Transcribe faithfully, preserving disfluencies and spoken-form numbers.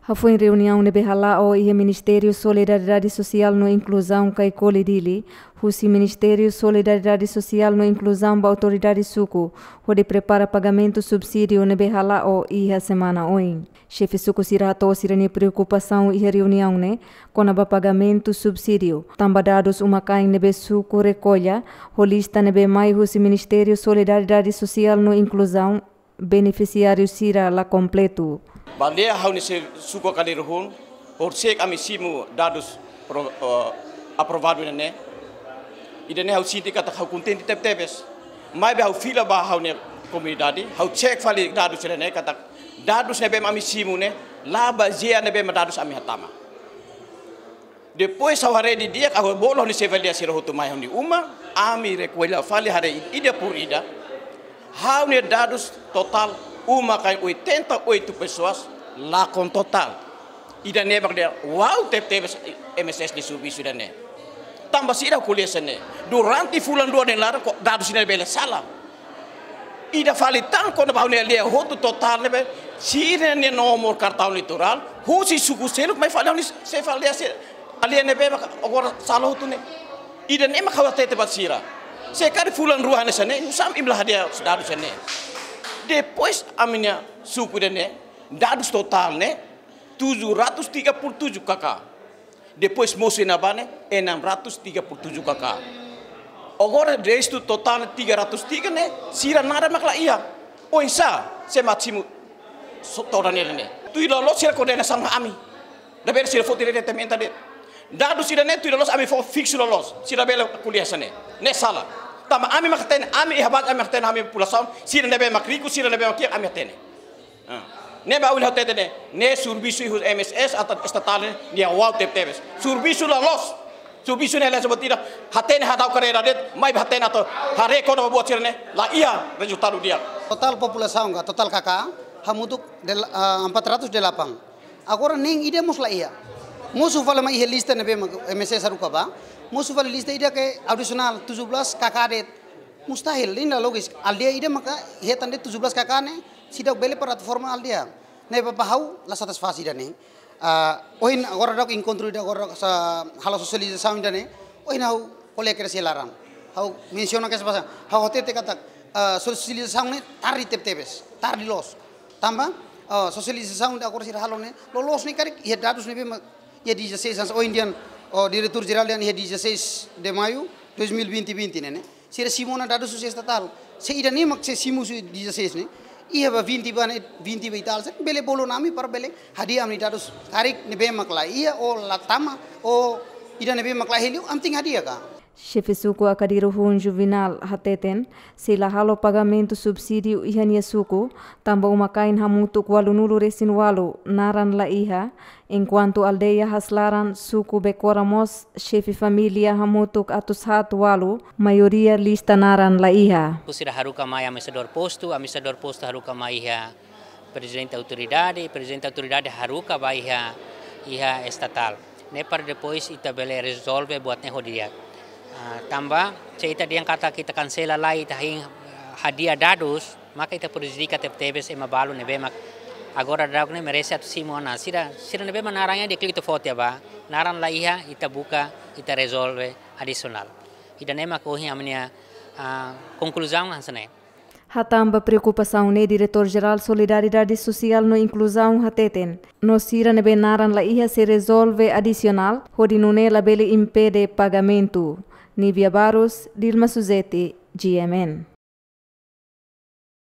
Hafoin reuniaun ne'ebé hala'o iha Ministériu Solidariedade Sosiál no Inkluzaun Caicoli Dili, husi Ministériu Solidariedade Sosiál no Inkluzaun ba autoridade suku, hodi prepara pagamentu subsídiu ne'ebé hala'o iha semana oin. Xefe suku sira hato'o sira-nia preokupasaun iha reuniaun ne'e, kona-ba pagamentu subsídiu, tanba dadus uma-kain ne'ebé suku rekolla, ho lista ne'ebé mai husi Ministériu Solidariedade Sosiál no Inkluzaun, benefisiáriu sira la kompletu. Ba aldeia ha'u-nia xefe suku Akadiru-hun, horisehik ami simu dadus pro-, eh, aprovadu ne'e. Ida-ne'e ha'u sente katak ha'u kontente tebetebes. Maibé ha'u fila ba ha'u-nia komunidade, ha'u cek fali dadus ne'e katak dadus ne'ebé ami simu ne'e, la bazeia ne'ebé dadus ami hatama. Depois ha'u haree didi'ak, ha'u bolu ha'u-nia xefe aldeia sira hotu mai ha'u-nia uma, ami rekolla fali haree ida por ida. Ha'u-nia dadus totál uma-kain oitenta e oito pessoas, la kompletu. Ida-ne'e mak dehan, wow, tebetebes M S S nia servisu ida-ne'e. Tanba saida ko'alia hanesan ne'e? Durante fulan rua nia laran, ko dadus ne'e bele sala. Ida fali tan kona-ba ha'u-nia aldeia hotu totál ne'ebé, sira-nia nomor kartaun eleitorál, husi suku seluk mai fali ha'u-nia xefe aldeia sira, aldeia ne'ebé maka agora sala hotu ne'e. Ida-ne'e mak ha'u hatete ba sira. Se karik fulan rua hanesan ne'e, nusá mak imi la hadi'a dadus hanesan ne'e? Depois ami-nia suku ida-ne'e, dadus totál ne'e, tujuh ratus tiga puluh tujuh K K. Depois mosu iha ne'ebá ne'e, enam ratus tiga puluh tujuh K K. Agora restu totál tiga ratus tiga ne'e, sira naran mak la iha. Oinsá, se mak simu so-, todan ne'e ne'e. Tuir loloos sira koordenasaun ami. Labele sira foti rede temen tadi. Dadus ida-ne'e tuir loloos ami fó fiksu loloos. Sira labele ko'alia hanesan ne'e. Ne'e sala. Tanba ami mak hatene, ami iha baze ami mak hatene ami populasaun. Sira ne'ebé mak riku, sira ne'ebé mak kiak ami hatene. Ah. Ne'ebé ha'u hatete ne'e, ne'e servisu husi M S S atu estatál ne'e, nia wow tebetebes. Servisu loloos. Servisu ne'e la sebut tidak, hatene hadau karreira de'it, maibé hatene atu haree kona-ba buat sira-ne'e, la iha rezultadu di'ak. Totál populasaun ka, totál K K, hamutuk del-, ah, empat ratus delapan. Agora nein ida mós la iha. Mosu fali mai iha lista ne'ebé mak M S S haruka ba. Mosu fali lista ida ke adisionál tujuh belas K K de'it. Mustahil, nein la logis. Aldeia ida maka hetan de'it tujuh belas K K ne'e, seidauk bele para atu forma aldeia. Ne'ebé ba ha'u la satisfás ida-ne'e. Ah, ohin agora daudauk enkontru ida agora sa halo sosializasaun ida-ne'e. Ohin ha'u kolega kedas iha laran. Ha'u mensiona kedas ba sira. Ha'u hatete katak, ah, sosializasaun ne'e tarde tebetebes, tarde loos. Tanba, ah, sosializasaun ida agora sira halo ne'e, loloos ne'e karik iha dadus ne'ebé mak iha dezasseis anos, ohin dehan, oh, diretór jerál dehan iha dezasseis de maio dois mil e vinte, vinte ne'e, ne'e. Sira simu ona dadus husi estatál. Se ida-ne'e mak sei simu husi dezasseis ne'e, iha ba vinte ba ne'e, vinte ba e tal, sei bele bolu ona ami para bele hadi'a ami-nia dadus karik ne'ebé mak la iha, ou la tama, ou ida ne'ebé mak la iha liu, ami tenke hadi'a ka. Xefe suku Akadiru-hun Juvenal hateten, sei la halo pagamentu subsídiu iha nia suku, tanba uma-kain hamutuk ualunulu-resin-ualu naran la iha, enkuantu aldeia Haslaran, suku Bekora mós, xefe família hamutuk atus haat ualu, maioria lista naran la iha. Sira haruka mai administradór postu, administradór postu haruka mai iha prezidente autoridade, prezidente autoridade haruka ba iha, iha estatál. Ne'e para depois ita bele rezolve buat ne'e ho di'ak. Ah, tanba, se ita dehan katak ita kansela lai, ita hein, ah, hadi'a dadus, maka ita prejudika tebetebes ema balu ne'ebé mak agora daudauk ne'e merese atu simu ona. Sira, sira ne'ebé mak naran iha deklitu foti ba, naran la iha, ita buka, ita rezolve adisionál. Ida-ne'e mak ohin ami-nia, ah, konkluzaun hanesan ne'e. Hatán ba preokupasaun ne'e, Diretór Jerál Solidariedade Sosiál no Inkluzaun hateten, no sira ne'ebé naran la iha sei rezolve adisionál, hodi nune'e labele impede pagamentu. Nívia Barros, Dilma Suzeti, G M N.